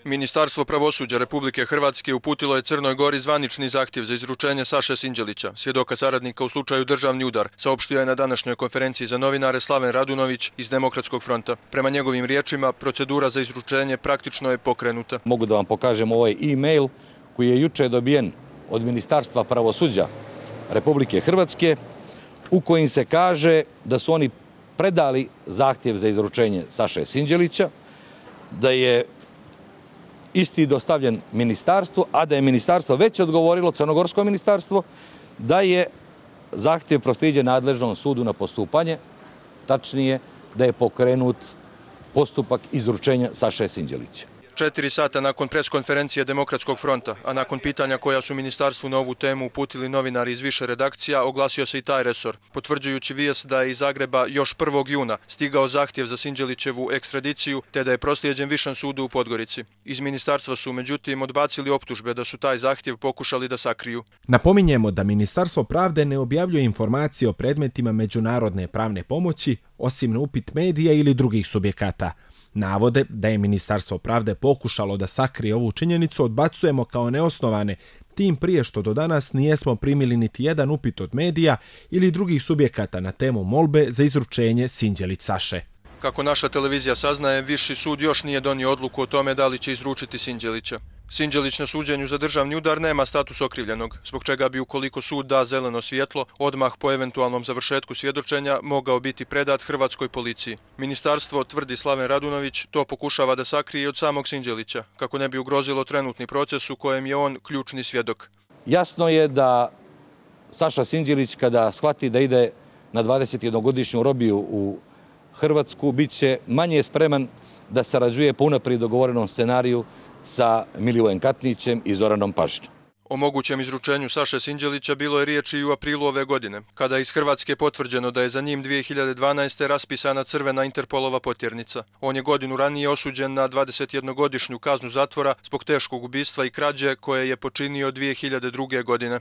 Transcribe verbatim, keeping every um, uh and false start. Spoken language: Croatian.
Ministarstvo pravosuđa Republike Hrvatske uputilo je Crnoj Gori zvanični zahtjev za izručenje Saše Sinđelića, svjedoka saradnika u slučaju Državni udar, saopštio je na današnjoj konferenciji za novinare Slaven Radunović iz Demokratskog fronta. Prema njegovim riječima, procedura za izručenje praktično je pokrenuta. Mogu da vam pokažem ovaj e-mail koji je juče dobijen od Ministarstva pravosuđa Republike Hrvatske, u kojim se kaže da su oni predali zahtjev za izručenje Saše Sinđelića, da je isti dostavljen ministarstvu, a da je ministarstvo već odgovorilo, Crnogorsko ministarstvo, da je zahtjev proslijeđen nadležnom sudu na postupanje, tačnije da je pokrenut postupak izručenja Saše Sinđelića. Četiri sata nakon preskonferencije Demokratskog fronta, a nakon pitanja koja su ministarstvu na ovu temu uputili novinari iz više redakcija, oglasio se i taj resor, potvrđujući vijest da je iz Zagreba još prvog juna stigao zahtjev za Sinđelićevu ekstradiciju, te da je proslijeđen Višem sudu u Podgorici. Iz ministarstva su, međutim, odbacili optužbe da su taj zahtjev pokušali da sakriju. Napominjemo da Ministarstvo pravde ne objavljuje informacije o predmetima međunarodne pravne pomoći, osim na upit medija ili drugih subjekata. Navode da je Ministarstvo pravde pokušalo da sakrije ovu činjenicu odbacujemo kao neosnovane, tim prije što do danas nijesmo primili niti jedan upit od medija ili drugih subjekata na temu molbe za izručenje Sinđelić Saše. Kako naša televizija saznaje, Viši sud još nije donio odluku o tome da li će izručiti Sinđelića. Sinđelić na suđenju za državni udar nema status okrivljenog, zbog čega bi, ukoliko sud da zeleno svjetlo, odmah po eventualnom završetku svjedočenja mogao biti predat hrvatskoj policiji. Ministarstvo, tvrdi Slaven Radunović, to pokušava da sakrije od samog Sinđelića, kako ne bi ugrozilo trenutni proces u kojem je on ključni svjedok. Jasno je da Saša Sinđelić, kada shvati da ide na dvadesetjednogodišnju robiju u Hrvatsku, bit će manje spreman da sarađuje po unaprijed dogovorenom scenariju sa Milivojem Katnićem i Zoranom Pašićem. O mogućem izručenju Saše Sinđelića bilo je riječi i u aprilu ove godine, kada je iz Hrvatske potvrđeno da je za njim dvije hiljade dvanaeste. raspisana crvena Interpolova potjernica. On je godinu ranije osuđen na dvadesetjednogodišnju kaznu zatvora zbog teškog ubistva i krađe koje je počinio dvije hiljade druge. godine.